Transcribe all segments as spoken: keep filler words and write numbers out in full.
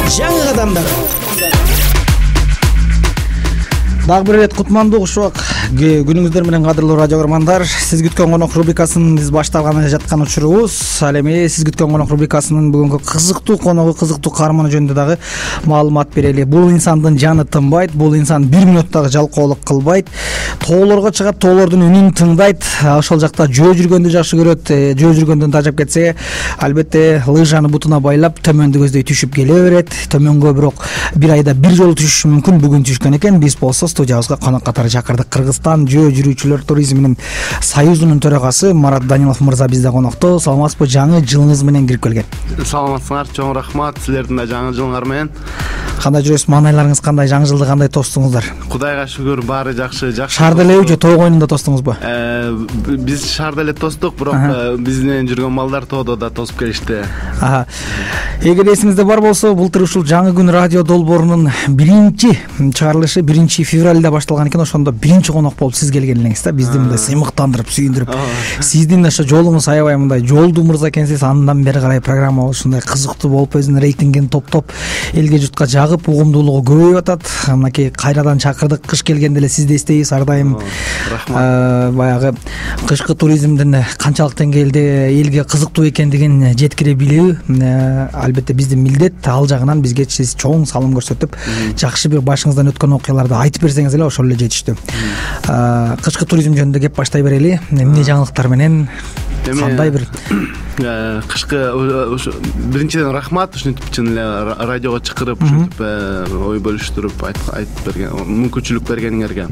жаңы кадамдар. Дагы бир ирет кутмандуу ушул күнүңүздөр менен кадырлуу радио көрөрмандар. Сиз күткөн конок рубрикасынын биз башталганы жаткан учурубуз. Ал эми сиз күткөн конок рубрикасынын бүгүнкү кызыктуу коногу, кызыктуу каарманы жөнүндө дагы маалымат берели. Бул инсандын жаны тынбайт, бул инсан бир минут дагы жалкоолук кылбайт. Тоолорго чыгат, тоолордун үнүн тыңдайт. Ошол жакта жөө жүргөндү жакшы көрөт. Жөө жүргөндөн тажап кетсе, албетте лыжаны бутуна байлап төмөндү көздөй түшүп келе берет. Төмөнгө бирок бир айда бир жолу түшүшү мүмкүн. Бүгүн түшкөн экен. Биз болсо студиябызга конок катары чакырдык. Кыргызстан жөө жүрүүчүлөр туризминин союзунун төрагасы Марат Данилов мырза бизде конокто. Саламатсызбы? Жаңы жылыңыз менен кирип келген. Саламатсыңар, чоң рахмат. Силердин да жаңы жылыңар менен. Кандай жүрөсүз? Маанайларыңыз кандай? Жаңы жылды кандай тостуңуздар? Кудайга шүгүр, баары жакшы, жакшы. Шаар делеби же той коюнунда тостуңузбу? Биз шаар деле тостук, бирок биз менен жүргөн балдар тоодо да тосуп келишти. Аха. Эгер эсиңизде бар болсо, былтыр ушул жаңы күн радио долбоорунун биринчи чыгарылышы биринчи февралда башталган экен. Ошондо биринчи конок болуп сиз келген элеңиз да. Бизди мындай сыймыктандырып, сүйүндүрүп. Сиздин ошо жолуңуз аябай мындай жолдуу мырза экенсиз. Андан бери карай программа ушундай кызыктуу болуп, өзүнүн рейтингин топтоп, элге журтка жагып, угумдуулугу көбөйүп атат. Мынакей кайрадан чакырдык. Кыш келгенде эле сизди эстейбиз ар дайым. Рахмат. Баягы кышкы туризмдин канчалык деңгээлде элге кызыктуу экендигин жеткире билүү албетте биздин милдет. Ал жагынан бизге сиз чоң салым көрсөтүп, жакшы бир башыңыздан өткөн окуяларды айтып берсеңиз эле ошол эле жетиштүү. Кышкы туризм жөнүндө кеп баштай берели. Эмне жаңылыктар менен, кандай бир кышкы биринчиден рахмат, ушинтип чын эле радиого чакырып, ушинтип ой бөлүштүрүп айтып берген, мүмкүнчүлүк бергениңерге.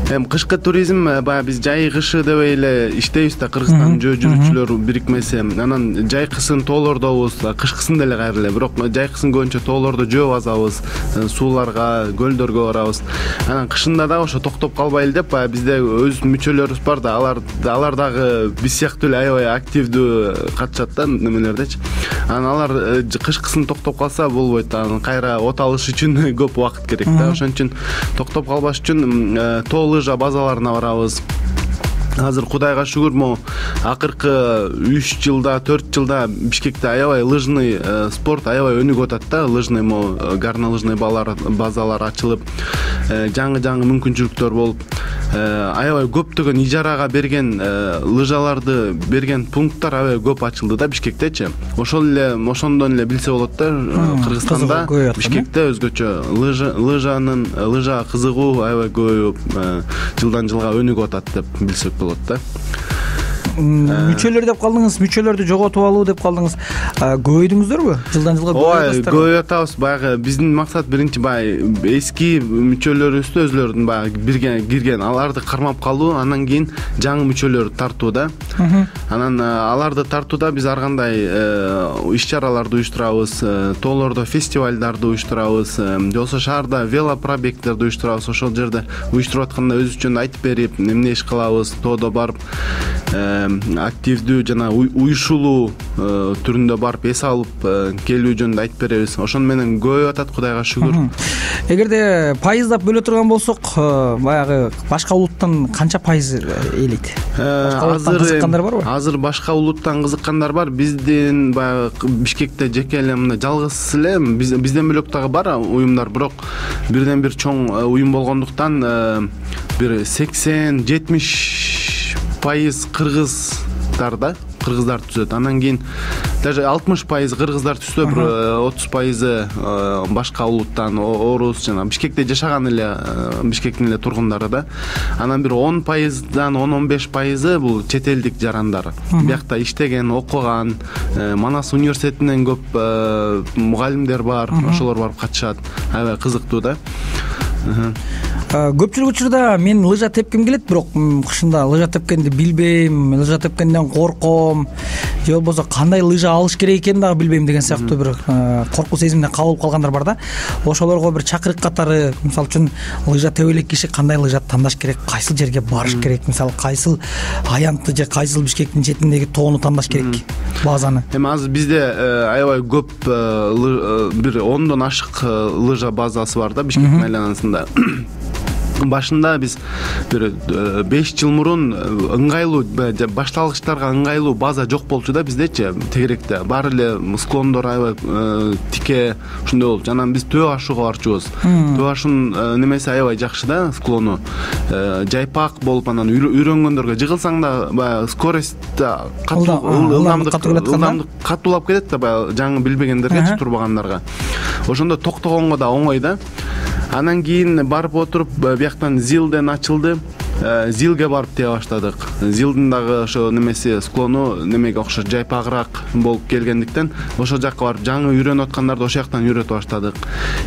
Эми кышкы туризм баягы биз жай кышы дебей эле иштейбиз да, Кыргызстан жөө жүрүүчүлөр бирикмеси. Анан жайкысын тоолордобуз, кышкысын деле кайра эле. Бирок жайкысын көбүнчө тоолордо жөө базабыз, сууларга, көлдөргө барабыз. Анан кышында дагы ошо токтоп калбайлы деп, баягы бизде өз мүчөлөрүбүз бар да, алар алар дагы биз сыяктуу эле аябай активдүү катышат да немелердечи. Анан алар кышкысын токтоп калса болбойт. Анан кайра от алыш үчүн көп убакыт керек да. Ошон үчүн токтоп калбаш үчүн тоо лыжа базаларына барабыз. Азыр Кудайга шүгүр, могу акыркы үч жылда, төрт жылда Бишкекте аябай лыжный спорт аябай өнүгүп атат да. Лыжный могу горнолыжный базалар ачылып, жаңы-жаңы мүмкүнчүлүктөр болуп, аябай көптөгөн ижарага берген лыжаларды берген пункттар аябай көп ачылды да Бишкектечи. Ошол эле, ошондон эле билсе болот да, Кыргызстанда Бишкекте өзгөчө лыжа лыжанын лыжа кызыгуу аябай көбөйүп, жылдан жылга өнүгүп атат деп билсек болот да. Мүчөлөр деп калдыңыз, мүчөлөрдү жоготуп алуу деп калдыңыз. Көбөйдүңүздөрбү? Жылдан жылга көбөйөт. Көбөйүп атабыз. Баягы биздин максат биринчи баягы эски мүчөлөрүбүздү өзлөрүнүн баягы бирге кирген аларды кармап калуу, андан кийин жаңы мүчөлөрдү тартуу да. Анан аларды тартууда биз ар кандай иш-чараларды уюштурабыз, тоолордо фестивалдарды уюштурабыз, же болбосо шаарда велопробегтерди уюштурабыз. Ошол жерде уюштуруп атканда өзүбүз жөнүндө айтып берип, эмне иш кылабыз, тоодо барып активдүү жана уюшулуу түрүндө барып эс алып келүү жөнүндө айтып беребиз. Ошону менен көбөйүп атат, Кудайга шүгүр. Эгерде пайыздап бөлө турган болсок, баягы башка улуттан канча пайыз ээлейт? Азыр кызыккандар барбы? Азыр башка улуттан кызыккандар бар. Биздин баягы Бишкекте жеке эле мындай жалгыз эле бизден бөлөк дагы бар уюмдар, бирок бирден бир чоң уюм болгондуктан бир сексен жетимиш пайыз кыргыздар да, кыргыздар түзөт. Андан кийин даже алтымыш пайыз кыргыздар түзсө, бир отуз пайызы башка улуттан, орус жана Бишкекте жашаган эле Бишкектин эле тургундары да. Анан бир он пайыздан он он беш пайызы бул чет элдик жарандар. Биякта иштеген, окуган, Манас университетинен көп мугалимдер бар, ошолор барып катышат. Аябай кызыктуу да. Көпчүлүк учурда мен лыжа тепким келет, бирок кышында лыжа тепкенди билбейм, лыжа тепкенден корком, же болбосо кандай лыжа алыш керек экенин дагы билбейм деген сыяктуу бир коркуу сезимине кабылып калгандар бар да. Ошолорго бир чакырык катары, мисалы үчүн лыжа тебе элек киши кандай лыжа тандаш керек, кайсыл жерге барыш керек, мисалы кайсыл аянтты же кайсыл Бишкектин четиндеги тоону тандаш керек, базаны. Эми азыр бизде аябай көп бир ондон ашык лыжа базасы бар да Бишкек айланасында. башында биз бир беш жыл мурун ыңгайлуу башталгычтарга ыңгайлуу база жок болчу да биздечи тегеректе. Баары эле склондор аябай тике ушундай болчу. Анан биз төө ашууга барчубуз. Төө ашуунун немеси аябай жакшы да, склону. Жайпак болуп анан үйрөнгөндөргө жыгылсаң да баягы скорость катуу, ылдамдык ылдамдык катуулап кетет да, баягы жаңы билбегендерге, турбагандарга. Ошондо токтогонго да оңой да. Анан кийин барып отуруп бияктан зилден ачылды. Зилге барып тие баштадык. Зилдин дагы ошо немеси склону немеге окшош жайпагыраак болуп келгендиктен ошол жакка барып жаңы үйрөнүп аткандарды ошол жактан үйрөтүп баштадык.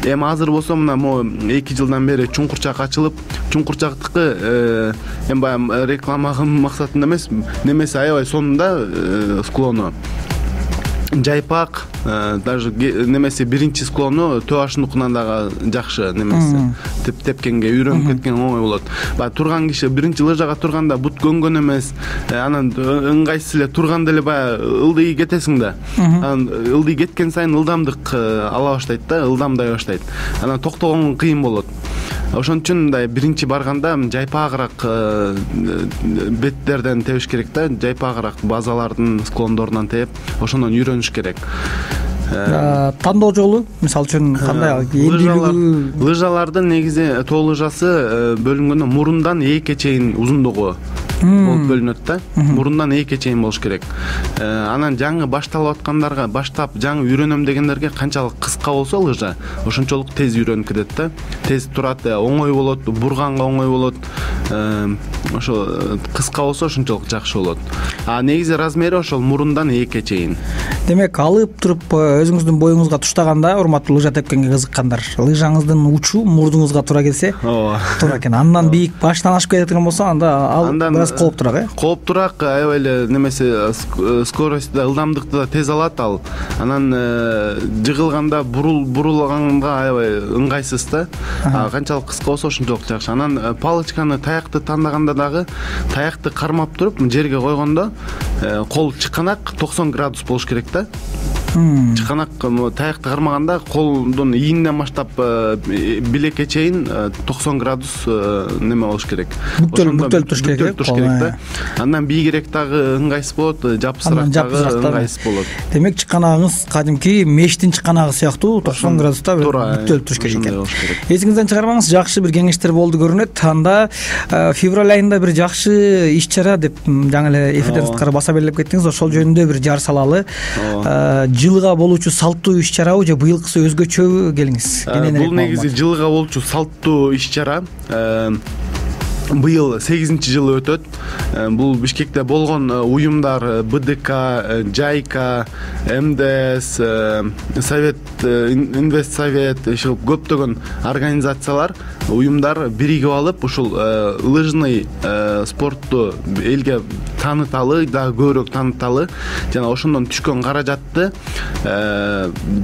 Эми азыр болсо мына могу эки жылдан бери Чуңкурчак ачылып, Чуңкурчактыкы эми баягы реклама максатында эмес, немеси аябай сонунда склону. Жайпак, даже немеси биринчи склону төө ашуунукунан дагы жакшы немеси. Теп тепкенге үйрөнүп кеткен оңой болот. Баягы турган киши биринчи лыжага турганда бут көнгөн эмес, анан ыңгайсыз эле турганда эле баягы ылдый кетесиң да. Анан ылдый кеткен сайын ылдамдык ала баштайт да, ылдамдай баштайт. Анан токтогон кыйын болот. Ошон үчүн мындай биринчи барганда жайпагыраак беттерден тебиш керек да, жайпагыраак базалардын склондорунан тээп, ошондон үйрөнүш керек. Тандоо жолу мисалы үчүн кандай лыжалар? Лыжалардын негизи тоо лыжасы бөлүнгөндө мурундан ээкке чейин узундугу болуп бөлүнөт да. Мурундан ээкке чейин болуш керек. Анан жаңы башталып аткандарга, баштап жаңы үйрөнөм дегендерге канчалык кыска болсо лыжа, ошончолук тез үйрөнүп кетет да. Тез турат, оңой болот, бурганга оңой болот. Ошо кыска болсо ошончолук жакшы болот. А негизи размери ошол мурундан ээкке чейин. Демек, алып туруп өзүңүздүн боюңузга туштаганда, урматтуу лыжа тепкенге кызыккандар, лыжаңыздын учу мурдуңузга туура келсе, туура экен. Андан бийик баштан ашып кеткен болсо, анда ал бираз кооптураак, э? Кооптураак, аябай эле немеси скорость да, ылдамдыкты да тез алат ал. Анан жыгылганда бурул бурулганга аябай ыңгайсыз да. Канчалык кыска болсо ошончолук жакшы. Анан палочканы, таякты тандаганда дагы таякты кармап туруп жерге койгондо кол чыканак токсон градус болуш керек да. Чыканак таякты кармаганда колдун ийинден баштап билекке чейин токсон градус неме болуш керек. Бүктөлүп туруш керек да. Андан бийигирээк дагы ыңгайсыз болот, жапсыраак дагы ыңгайсыз болот. Демек, чыканагыңыз кадимки мештин чыканагы сыяктуу токсон градуста бүктөлүп туруш керек экен. Эсиңизден чыгарбаңыз, жакшы бир кеңештер болду көрүнөт. Анда февраль айында бир жакшы иш-чара деп жаңы эле эфирден сырткары баса белгилеп кеттиңиз. Ошол жөнүндө бир жар салалы. Жылга болуучу салттуу иш-чарабы же быйылкысы өзгөчөбү, келиңиз. Бул негизи жылга болуучу салттуу иш-чара. Быйыл сегизинчи жылы өтөт. Бул Бишкекте болгон уюмдар БДК, Жайка, МДС, Совет, Инвест Совет, көптөгөн организациялар, уюмдар биригип алып, ушул лыжный спортту элге тааныталы, дагы көбүрөөк тааныталы, жана ошондон түшкөн каражатты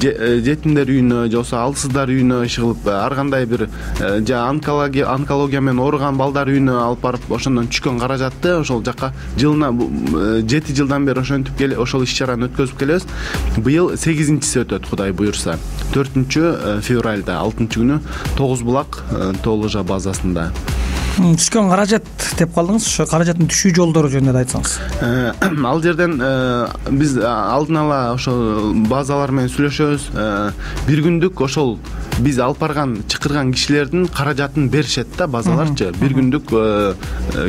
жетимдер үйүнө, же болбосо алсыздар үйүнө ишигилип, ар кандай бир же онкология онкология менен ооруган балдар үйүнө алып барып, ошондон түшкөн каражатты ошол жакка жылына жети жылдан бери ошентип келе ошол иш-чараны өткөзүп келебиз. Быйыл сегизинчиси өтөт, Кудай буюрса. төртүнчү февралда, алтынчы күнү Тогуз булак тоо лыжа базасында. Түшкөн каражат деп калдыңыз, ошо каражаттын түшүү жолдору жөнүндө да айтсаңыз. Ал жерден биз алдын ала ошол базалар менен сүйлөшөбүз. Бир күндүк ошол биз алып барган чакырган кишилердин каражатын беришет да, базаларчы. Бир күндүк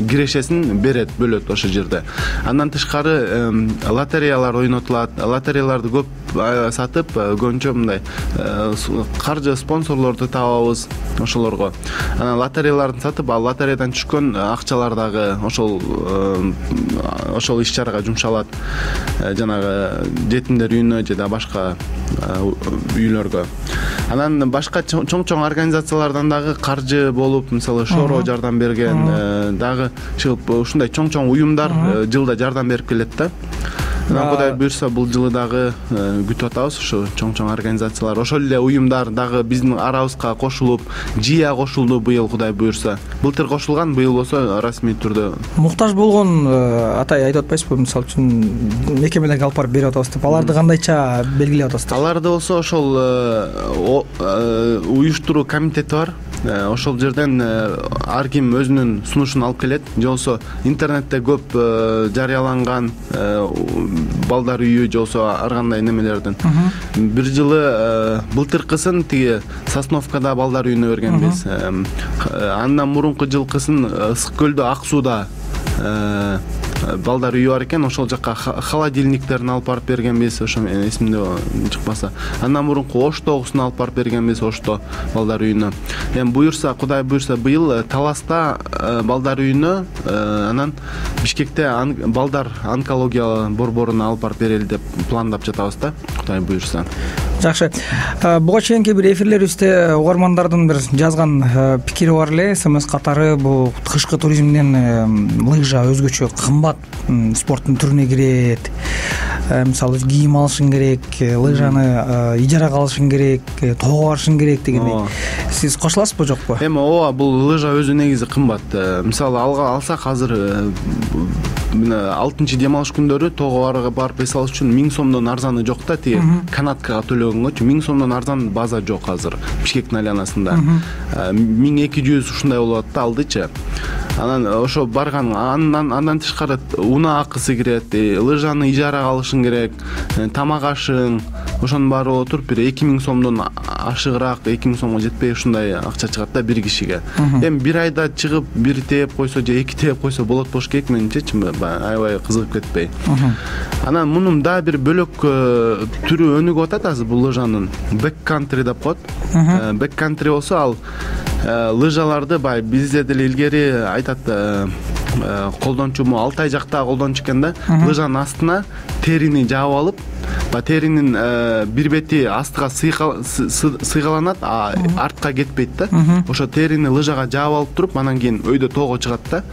кирешесин берет, бөлөт ошол жерде. Андан тышкары лотереялар ойнотулат. Лотереяларды көп сатып, көбүнчө мындай каржы спонсорлорду табабыз ошолорго. Анан лотереяларды сатып, ал лотереядан түшкөн акчалар дагы ошол ошол иш-чарага жумшалат. Жанагы жетимдер үйүнө же да башка үйлөргө. Анан башка чоң-чоң организациялардан дагы каржы болуп, мисалы Шоро жардам берген, дагы чыгып ушундай чоң-чоң уюмдар жылда жардам берип келет да. Кудай буйрса, бул жылы дагы күтүп атабыз ушу чоң-чоң организациялар. Ошол эле уюмдар дагы биздин арабызга кошулуп, Жия кошулду быйыл, Кудай буйрса. Былтыр кошулган, быйыл болсо расмий түрдө. Муктаж болгон атай айтып атпайсызбы, мисалы үчүн мекемелерге алып барып берип атабыз деп, аларды кандайча белгилеп атасыздар? Аларды болсо ошол уюштуруу комитети бар. ошол жерден ар ким өзүнүн сунушун алып келет, же болбосо интернетте көп жарыяланган балдар үйү, же болбосо ар кандай немелердин. Бир жылы былтыркысын тиги Сосновкада балдар үйүнө бергенбиз. Андан мурунку жылкысын Ысык көлдө Ак сууда балдар үйү бар экен, ошол жака холодильниктерин алып барып бергенбиз, ошо менен эсимде чыкпаса. Андан мурунку Оштогусун алып барып бергенбиз, Ошто балдар үйүнө. Эми буюрса, Кудай буюрса, быйыл Таласта балдар үйүнө, анан Бишкекте балдар онкология борборуна алып барып берели деп пландап жатабыз да, Кудай буюрса. Жакшы. Буга чейинки бир эфирлерибизде угармандардын бир жазган пикири бар эле. СМС катары бул кышкы туризмден лыжа өзгөчө кымбат спорттун түрүнө кирет. Мисалы кийим алышың керек, лыжаны ижарага алышың керек, тоого барышың керек дегендей. Сиз кошуласызбы, жокпу? Эми ооба, бул лыжа өзү негизи кымбат. Мисалы алга алсак азыр алтынчы дем алыш күндөрү тоого барып эс алыш үчүн миң сомдон арзаны жок да, тиги канаткага төлөгөнгөчү миң сомдон арзан база жок азыр Бишкектин айланасында. миң эки жүз ушундай болуп атат да алдычы. Анан ошо барган, андан андан тышкары унаа акысы кирет, лыжаны ижарага алышың керек, тамак ашың, ошонун баары боло туруп бир эки миң сомдон ашыгыраак, эки миң сомго жетпей ушундай акча чыгат да бир кишиге. Эми бир айда чыгып бир тээп койсо же эки тээп койсо болот болуш керек, менимчечи, аябай кызыгып кетпей. Анан мунун дагы бир бөлөк түрү өнүгүп атат азыр бул лыжанын. Бэк-кантри деп коет. Бэк-кантри болсо ал лыжаларды бай бизде деле илгери айтат, колдончуму Алтай жакта колдончу экен да, лыжанын астына терини жаап алып, ба теринин бир бети астыга сыйгаланат, а артка кетпейт да. Ошо терини лыжага жаап алып туруп, анан кийин өйдө тоого чыгат да.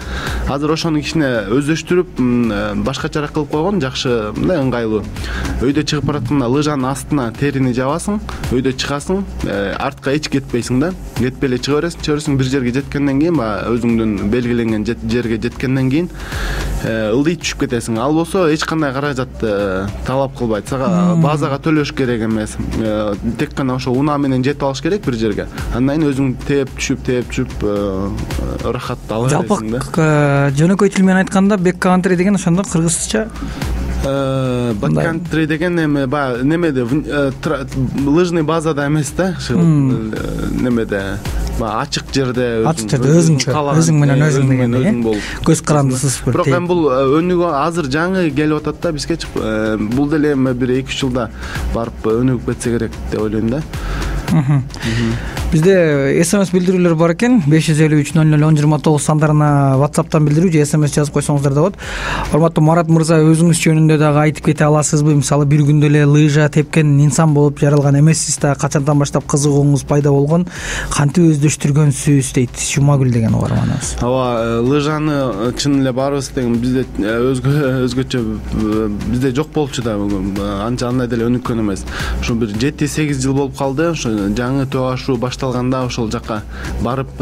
Азыр ошону кичине өздөштүрүп, башкачараак кылып койгон, жакшы, мындай ыңгайлуу. Өйдө чыгып баратканда лыжанын астына терини жабасың, өйдө чыгасың, артка эч кетпейсиң да. Кетпей эле чыга бересиң, чыга бересиң, бир жерге жеткенден кийин, баягы өзүңдүн белгиленген жерге жеткенден кийин ылдый түшүп кетесиң. Ал болсо эч кандай каражат талап кылбайт. Сага базага төлөш керек эмес. Тек гана ошо унаа менен жетип алыш керек бир жерге. Андан кийин өзүң тээп түшүп, тээп түшүп ырахат ала бересиң да. Жалпы жөнөкөй тил менен айтканда бэк-кантри деген ошондо кыргызча бэк-кантри деген эми баягы немеде лыжный базада эмес да, немеде ачык жерде, ачык жерде өзүңчө, өзүң менен өзүң дегендей, көз карандысыз. Бирок эми бул өнүгүп азыр жаңы келип атат да бизге. Бул деле эми бир эки үч жылда барып өнүгүп кетсе керек деп ойлойм да. Бизде СМС билдирүүлөр бар экен. беш жүз элүү үч нөл нөл он жыйырма тогуз сандарына WhatsApp'тан билдирүү же СМС жазып койсоңуздар да болот. Урматтуу Марат мырза, өзүңүз жөнүндө дагы айтып кете аласызбы? Мисалы бир күндө эле лыжа тепкен инсан болуп жаралган эмессиз да, качандан баштап кызыгууңуз пайда болгон, кантип өздөштүргөнсүз дейт Жумагүл деген угарманыбыз. Ооба, лыжаны чын эле баарыбыз деген бизде өзгө өзгөчө бизде жок болчу да, анча андай деле өнүккөн эмес. Ошо бир жети сегиз жыл болуп калды. Ошо жаңы төө ашуу башталганда ошол жака барып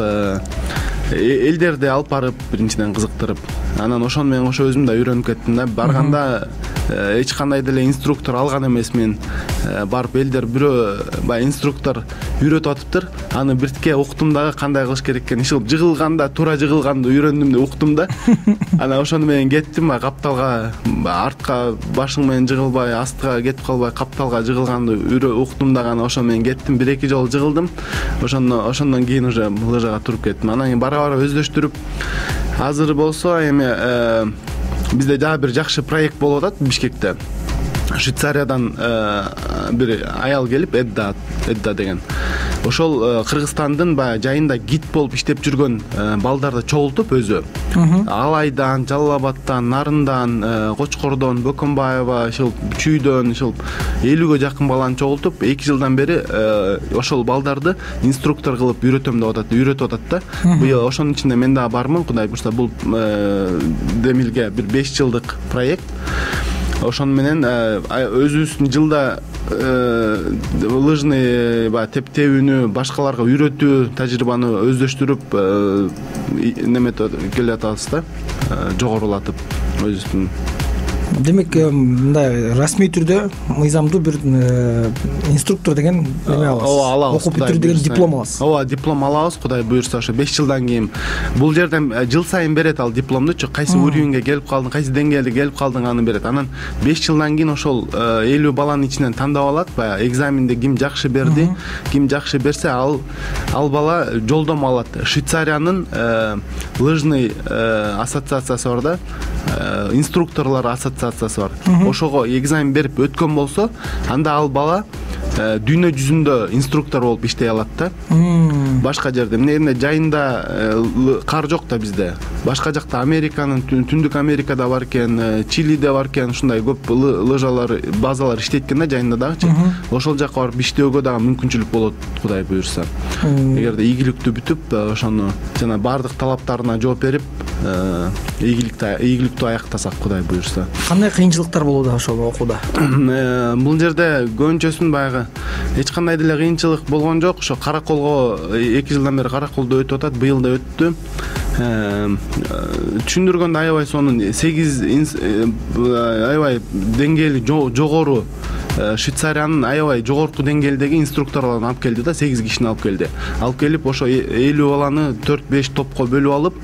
элдерди алып барып биринчиден кызыктырып, анан ошону менен ошо өзүм да үйрөнүп кеттим да. Барганда эч кандай деле инструктор алган эмесмин. Барып элдер бирөө баягы инструктор үйрөтүп атыптыр. Аны биртке уктум дагы кандай кылыш керек экенин. Ишил жыгылганда, туура жыгылганды үйрөндүм деп уктум да. Анан ошону менен кеттим, капталга артка башың менен жыгылбай, астыга кетип калбай, капталга жыгылганды уктум дагы. Анан ошону менен кеттим, бир эки жолу жыгылдым. Ошондон ошондон кийин уже лыжага туруп кеттим. Анан кийин бара бара өздөштүрүп, азыр болсо эми бизде дагы бир жакшы проект болуп атат Бишкекте. Швейцариядан бир аял келип, Эдда, Эдда деген. Ошол Кыргызстандын баягы жайында гид болуп иштеп жүргөн балдарды чогултуп өзү. Алайдан, Жалал Абадтан, Нарындан, Кочкордон, Бөкөнбаева, ошол Чүйдөн, ошол элүүгө жакын баланы чогултуп, эки жылдан бери ошол балдарды инструктор кылып үйрөтөм деп атат, үйрөтүп атат да. Быйыл ошонун ичинде мен дагы бармын, Кудай буюрса. Бул демилге бир беш жылдык проект. Ошону менен өзүбүздүн жылда лыжный баягы теп-тебүүнү башкаларга үйрөтүү, тажрыйбаны өздөштүрүп неметип келе атабыз да, жогорулатып өзүбүздүн. демек мындай расмий түрдө мыйзамдуу бир инструктор деген эме алабыз. Ооба, алабыз. Окуп бүтүрүү деген диплом аласыз. Ооба, диплом алабыз, Кудай буйрса ошо беш жылдан кийин. Бул жерден жыл сайын берет ал дипломдучу, кайсы уровеньге келип калдың, кайсы деңгээлде келип калдың аны берет. Анан беш жылдан кийин ошол элүү баланын ичинен тандап алат, баягы экзаменде ким жакшы берди, ким жакшы берсе, ал ал бала жолдомо алат. Швейцариянын лыжный ассоциациясы бар да, инструкторлор ассоциациясы бар. Ошого экзамен берип өткөн болсо, анда ал бала дүйнө жүзүндө инструктор болуп иштей алат да. Башка жерде эмне жайында кар жок да бизде. Башка жакта Американын, Түндүк Америкада бар экен, Чилиде бар экен, ушундай көп лыжалар, базалар иштейт экен да жайында дагычы. Ошол жака барып иштөөгө дагы мүмкүнчүлүк болот, Кудай буйрса. Эгерде ийгиликтүү бүтүп, ошону жана бардык талаптарына жооп берип, ийгиликтүү ийгиликтүү аяктасак, Кудай буйрса. Кандай кыйынчылыктар болууда ошол окууда? Бул жерде көбүнчөсүн баягы эч кандай деле кыйынчылык болгон жок. Ошо караколго эки жылдан бери караколдо өтүп атат, быйыл да өттү. Түшүндүргөндө аябай сонун сегиз аябай деңгээли жогору Швейцариянын аябай жогорку деңгээлдеги инструкторлорун алып келди да, сегиз кишини алып келди. Алып келип ошо элүү баланы төрт беш топко бөлүп алып,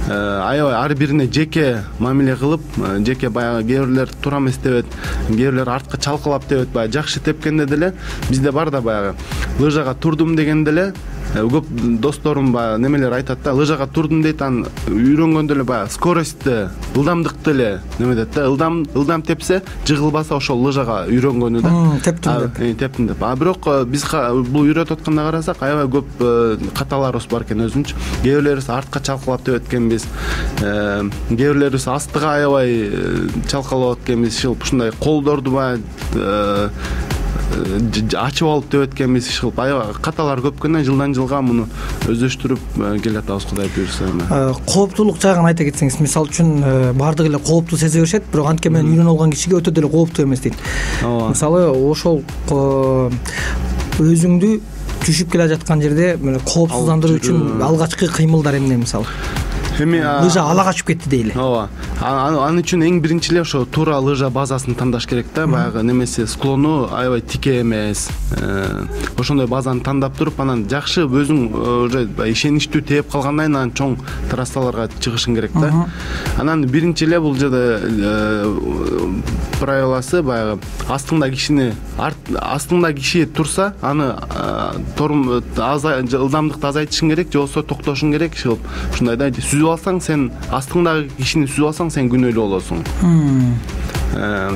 аябай ар бирине жеке мамиле кылып, жеке баягы кээ бирлер туура эмес дебет, кээ бирлер артка чалкалап дебет, баягы жакшы тепкенде деле бизде бар да баягы лыжага турдум дегенде эле көп досторум баягы немелер айтат да, лыжага турдум дейт, анан үйрөнгөндө эле баягы скоростьти, ылдамдыкты эле неме дейт да, ылдам ылдам тепсе, жыгылбаса ошол лыжага үйрөнгөнү да. Тептим деп. Тептим деп. А бирок биз бул үйрөтүп атканда карасак, аябай көп каталарыбыз бар экен өзүнчө. Кээ бирлерибиз артка чалкалап деп эткенбиз. Кээ бирлерибиз астыга аябай чалкалап эткенбиз. Ушундай колдорду баягы ачып алып деп эткенбиз, иш кылып аябай каталар көп экен. Жылдан жылга муну өздөштүрүп келатабыз, Кудай буйрса. Кооптуулук жагын айта кетсеңиз, мисалы үчүн бардыгы эле кооптуу сезе беришет, бирок антке менен үйрөнүп алган кишиге өтө деле кооптуу эмес дейт. Мисалы ошол өзүңдү түшүп келе жаткан жерде коопсуздандыруу үчүн алгачкы кыймылдар эмне мисалы? Эми лыжа ала качып кетти дейли. Ооба. Аны үчүн эң биринчи эле ошо туура лыжа базасын тандаш керек да. Баягы немеси склону аябай тике эмес. Ошондой базаны тандап туруп, анан жакшы өзүң уже ишеничтүү тээп калгандан кийин анан чоң трассаларга чыгышың керек да. Анан биринчи эле бул жерде правиласы баягы астыңда кишини астыңда киши турса, аны ылдамдыкты азайтышың керек, же болбосо токтошуң керек, иш кылып ушундай да. Сүзүп алсаң, сен астыңдагы кишини сүзүп алсаң, сен күнөөлүү болосуң.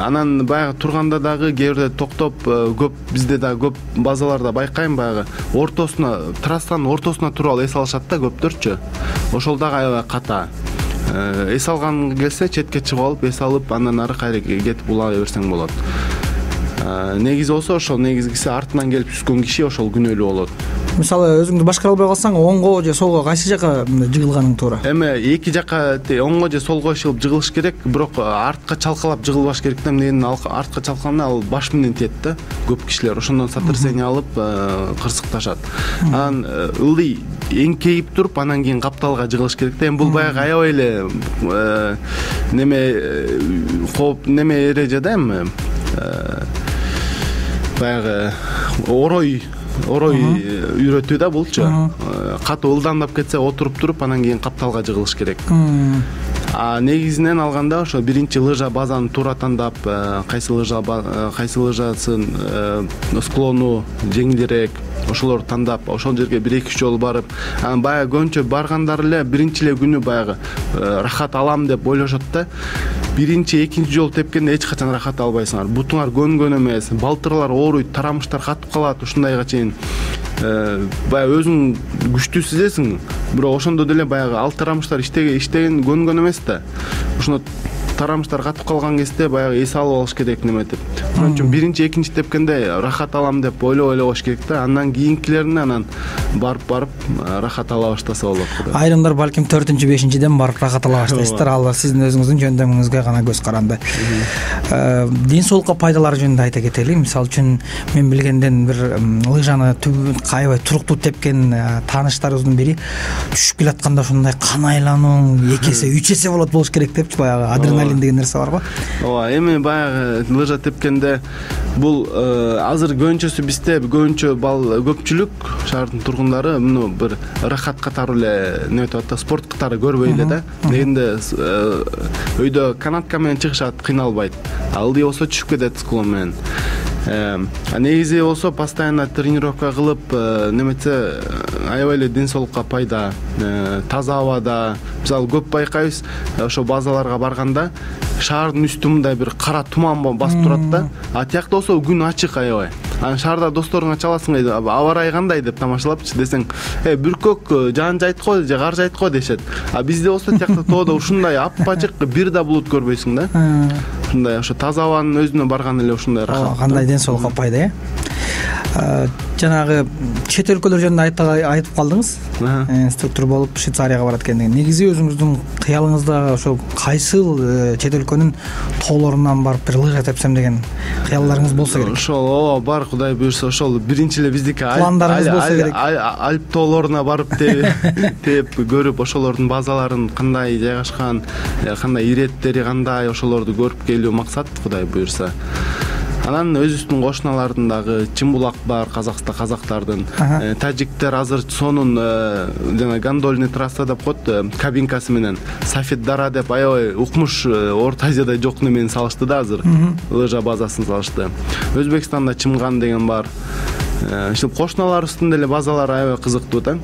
Анан баягы турганда дагы кээ бирде токтоп, көп бизде да көп базаларда байкайм, баягы ортосуна, трассанын ортосуна туруп алып эс алышат да көптөрчү. Ошол дагы аябай ката. Эс алган келсе, четке чыгып алып, эс алып, андан ары кайра кетип улай берсең болот. Негизи болсо ошол негизгиси артынан келип түскөн киши ошол күнөөлүү болот. Мисалы өзүңдү башкара албай калсаң, оңго же солго кайсы жака жыгылганың туура? Эми эки жака оңго же солго ишилип жыгылыш керек, бирок артка чалкалап жыгылбаш керек да. Эмнеден артка чалкалганда ал баш менен тиет да. Көп кишилер ошондон сотрясение алып кырсыкташат. Анан ылдый эңкейип туруп, анан кийин капталга жыгылыш керек да. Эми бул баягы аябай эле неме кооп неме эреже да, эми баягы орой орой үйрөтүү да булчу. Катуу ылдамдап кетсе, отуруп туруп, анан кийин капталга жыгылыш керек. А негизинен алганда ошо биринчи лыжа базаны туура тандап, кайсы лыжа кайсы лыжасын склону жеңилирээк, ошолорду тандап, ошол жерге бир эки үч жолу барып, анан баягы көбүнчө баргандар эле биринчи эле күнү баягы рахат алам деп ойлошот да. Биринчи, экинчи жолу тепкенде эч качан рахат албайсыңар. Бутуңар көнгөн эмес, балтырлар ооруйт, тарамыштар катып калат, ушундайга чейин баягы өзүң күчтүү сезесиң, бирок ошондо деле баягы ал тарамыштар иштеген көнгөн эмес да. Ошондо тарамыштар катып калган кезде баягы эс алып алыш керек неметип. Ошон үчүн биринчи, экинчи тепкенде рахат алам деп ойлоп ойлогош керек да. Андан кийинкилерине анан барып барып рахат ала баштаса болот. Айрымдар балким төртүнчү, бешинчиден барып рахат ала баштайсыздар. Ал сиздин өзүңүздүн жөндөмүңүзгө гана көз каранды. Ден соолукка пайдалары жөнүндө айта кетели. Мисалы үчүн мен билгенден бир лыжаны аябай туруктуу тепкен тааныштарыбыздын бири түшүп келатканда ушундай кан айлануу эки эсе, үч эсе болот болуш керек депчи, баягы адреналин адреналин деген нерсе бар го. ооба эми баягы лыжа тепкенде бул азыр көбүнчөсү бизде көбүнчө бал көпчүлүк шаардын тургундары муну бир ырахат катары эле неметип атат да, спорт катары көрбөй эле да. Дегенде өйдө канатка менен чыгышат, кыйналбайт. Ылдый болсо түшүп кетет склон менен. А негизи болсо постоянно тренировка кылып неметсе аябай эле ден соолукка пайда. Таза абада мисалы көп байкайбыз, ошо базаларга барганда шаардын үстү мындай бир кара туман басып турат да. А тиякта болсо күн ачык аябай. Анан шаарда досторуңа чаласың, аба ырайы кандай деп тамашалапчы десең, э бүркөк жаан жайт го же кар жайт го дешет. А бизде болсо тиякта тоодо ушундай аппачык бир да булут көрбөйсүң да. Ушундай ошо таза абанын өзүнө барган эле ушундай рахат. Кандай ден соолукка пайда, э? Жанагы чет өлкөлөр жөнүндө айтып калдыңыз. Инструктор болуп Швейцарияга барат экендиги. Негизи өзүңүздүн кыялыңызда ошо кайсыл чет өлкөнүн тоолорунан барып бир лыжа тепсем деген кыялларыңыз болсо керек. Ошол ооба бар, Кудай буйрса ошол биринчи эле биздики пландарыңыз болсо керек. Альп тоолоруна барып теп көрүп, ошолордун базаларын кандай жайгашкан, кандай иреттери кандай, ошолорду көрүп келүү максат, Кудай буйрса. Анан өзүбүздүн кошуналардын дагы Чымбулак бар, Казакста казактардын, тажиктер азыр сонун жана гондольный трасса деп коет, кабинкасы менен Сафет Дара деп аябай укмуш Орто Азияда жок немени салышты да азыр. Лыжа базасын салышты. Өзбекстанда Чымган деген бар. Ишte кошуналарыбыздын деле базалары аябай кызыктуу да.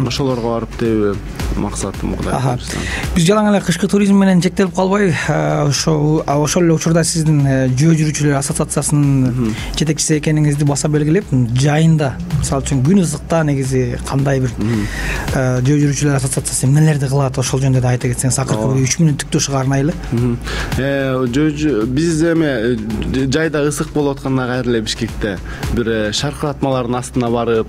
Ошолорго барып тебүү максатым, Кудай буйрса. Биз жалаң эле кышкы туризм менен чектелип калбай, ошо ошол эле учурда сиздин жөө жүрүүчүлөр ассоциациясынын жетекчиси экениңизди баса белгилеп, жайында, мисалы үчүн күн ызыкта негизи кандай бир жөө жүрүүчүлөр ассоциациясы эмнелерди кылат, ошол жөнүндө да айта кетсеңиз, акыркы бир үч мүнөттүк шыгарнайлы. Э биз эми жайда ысык болуп атканда кайра эле Бишкекте бир шаркыратмалардын астына барып,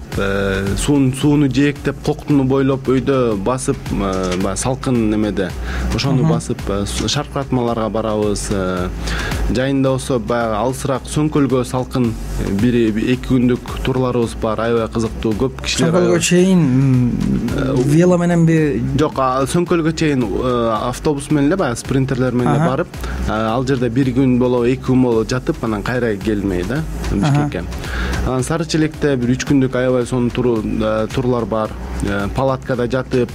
суун сууну жээктеп, коктуну бойлоп өйдө басып, баягы салкын немеде ошону басып шаркыратмаларга барабыз. Жайында болсо баягы алысыраак Сөңкөлгө салкын бир эки күндүк турларыбыз бар, аябай кызыктуу, көп кишилер. Сөңкөлгө чейин вело мененби? Жок, Сөңкөлгө чейин автобус менен эле, баягы спринтерлер менен эле барып, ал жерде бир күн болобу, эки күн болобу жатып, анан кайра келмей да Бишкекке. Анан Сарычелекте бир үч күндүк аябай сонун турлар бар. Палаткада жатып,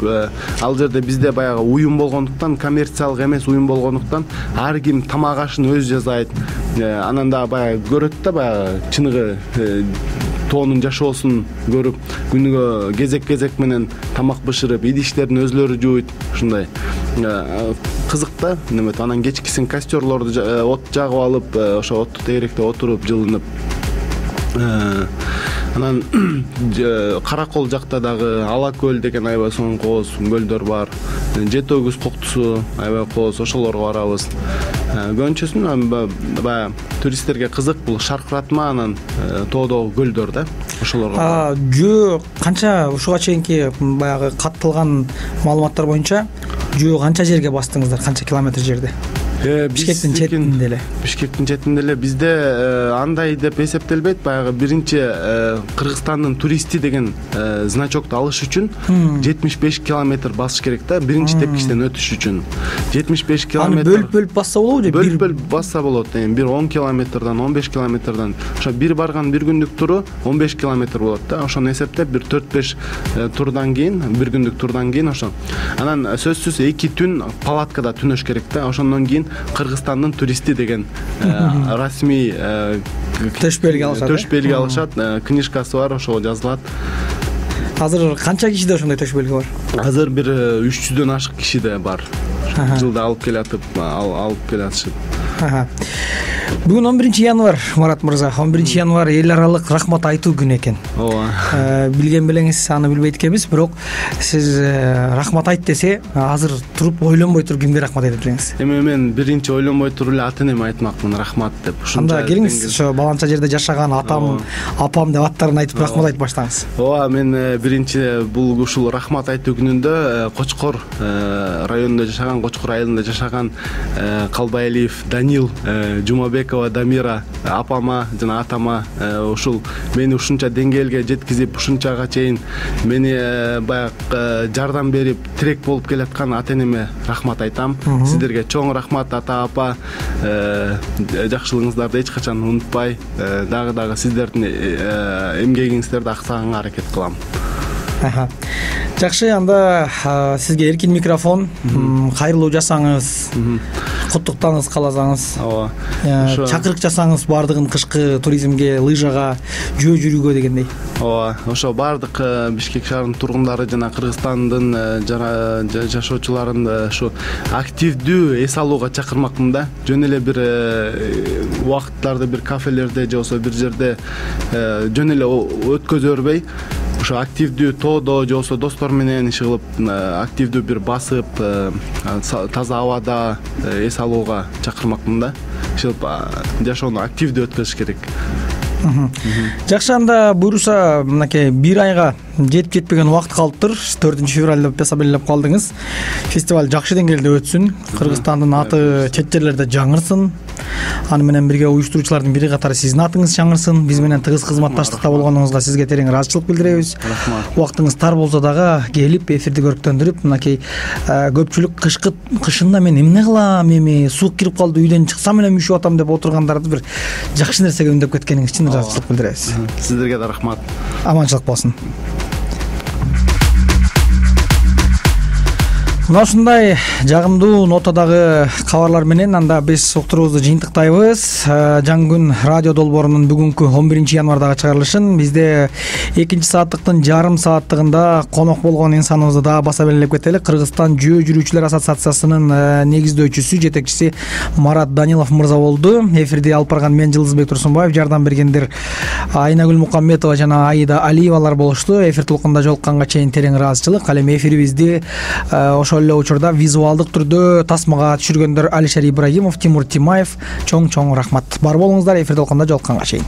ал жерде бизде баягы уюм болгондуктан, коммерциялык эмес уюм болгондуктан, ар ким тамак ашын өзү жасайт. Анан да баягы көрөт да, баягы чыныгы тоонун жашоосун көрүп, күнүгө кезек-кезек менен тамак бышырып, идиштерин өзлөрү жууйт, ушундай кызык да. Неметип, анан кечкисин костерлорду от жагып алып, ошо отту тегеректе отуруп, жылынып. Анан Каракол жакта дагы Ала көл деген аябай сонун кооз көлдөр бар. Жети өгүз коктусу аябай кооз, ошолорго барабыз. Көбүнчөсүн баягы туристтерге кызык бул шаркыратма, анан тоодогу көлдөр да, ошолорго. А жөө канча, ушуга чейинки баягы катталган маалыматтар боюнча жөө канча жерге бастыңыздар, канча километр жерде? Бишкектин четинде эле. Бишкектин четинде эле бизде андай деп эсептелбейт. Баягы биринчи Кыргызстандын туристи деген значокту алыш үчүн жетимиш беш километр басыш керек да, биринчи тепкичтен өтүш үчүн. жетимиш беш километр. Аны бөлүп-бөлүп басса болобу же? Бөлүп-бөлүп басса болот. Бир он километрдан, он беш километрдан. Ошо бир барган бир күндүк туру он беш километр болот да. Ошону эсептеп бир төрт беш турдан кийин, бир күндүк турдан кийин ошо. Анан сөзсүз эки түн палаткада түнөш керек да. Ошондон кийин Кыргызстандын туристи деген расмий төш белги алышат. Төш белги алышат, книжкасы бар, ошого жазылат. Азыр канча кишиде ошондой төш белги бар? Азыр бир үч жүздөн ашык кишиде бар. Жылда алып келатып, алып келатышат. Бүгүн он биринчи январь, Марат мырза. он биринчи январь эл аралык рахмат айтуу күнү экен. Ооба. Билген белеңиз, аны билбейт экенбиз, бирок сиз рахмат айт десе, азыр туруп ойлонбой туруп кимге рахмат айтат элеңиз? Эми мен биринчи ойлонбой туруп эле ата энеме айтмакмын рахмат деп. Анда келиңиз, ошо баланча жерде жашаган атам, апам деп аттарын айтып рахмат айтып баштаңыз. Ооба, мен биринчи бул ушул рахмат айтуу күнүндө Кочкор районунда жашаган, Кочкор айылында жашаган Калбайалиев Данил Жумабек Кулубекова Дамира апама жана атама ушул мени ушунча деңгээлге жеткизип, ушунчага чейин мени баягы жардам берип, тирек болуп келаткан ата энеме рахмат айтам. Сиздерге чоң рахмат, ата апа. Жакшылыгыңыздарды эч качан унутпай, дагы дагы сиздердин эмгегиңиздерди аксаганга аракет кылам. Жакшы, анда сизге эркин микрофон. Кайрылуу жасаңыз, куттуктаңыз кааласаңыз. Ооба. Чакырык жасаңыз бардыгын кышкы туризмге, лыжага, жөө жүрүүгө дегендей. Ооба. Ошо бардык Бишкек шаарынын тургундары жана Кыргызстандын жашоочуларын ушу активдүү эс алууга чакырмакмын да. Жөн эле бир убакыттарды бир кафелерде же болбосо бир жерде жөн эле өткөзө бербей, ошо активдүү тоодо же болбосо достор менен иш кылып, активдүү бир басып, таза абада эс алууга чакырмакмын да. Ишилип жашоону активдүү өткөзүш керек. Жакшы, анда буюрса, мынакей бир айга жетип жетпеген убакыт калыптыр. төртүнчү февраль деп эсап белгилеп калдыңыз. Фестиваль жакшы деңгээлде өтсүн, Кыргызстандын аты чет жерлерде жаңырсын. Аны менен бирге уюштуруучулардын бири катары сиздин атыңыз жаңырсын. Биз менен тыгыз кызматташтыкта болгонуңузга сизге терең ыраазычылык билдиребиз. Убактыңыз тар болсо дагы келип эфирди көрктөндүрүп, мынакей көпчүлүк кышкы кышында мен эмне кылам, эми суук кирип калды, үйдөн чыксам эле мүшүп атам деп отургандарды бир жакшы нерсеге үндөп кеткениңиз үчүн ыраазычылык билдиребиз. Сиздерге да рахмат. Аманчылык болсун. Мына ушундай жагымдуу нотадагы кабарлар менен анда биз уктуруубузду жыйынтыктайбыз. Жаңы күн радио долбоорунун бүгүнкү он биринчи январдагы чыгарылышын бизде экинчи сааттыктын жарым сааттыгында конок болгон инсаныбызды дагы баса белгилеп кетели. Кыргызстан жөө жүрүүчүлөр ассоциациясынын негиздөөчүсү, жетекчиси Марат Данилов мырза болду. Эфирди алып барган мен Жылдызбек Турсунбаев, жардам бергендер Айнагүл Мукамметова жана Аида Алиевалар болушту. Эфир толкунда жолукканга чейин терең ыраазычылык. Ал эми эфирибизди ошол эле учурда визуалдык түрдө тасмага түшүргөндөр Алишер Ибрагимов, Тимур Тимаев чоң-чоң рахмат. Бар болуңуздар, эфир толкунда жолукканга чейин.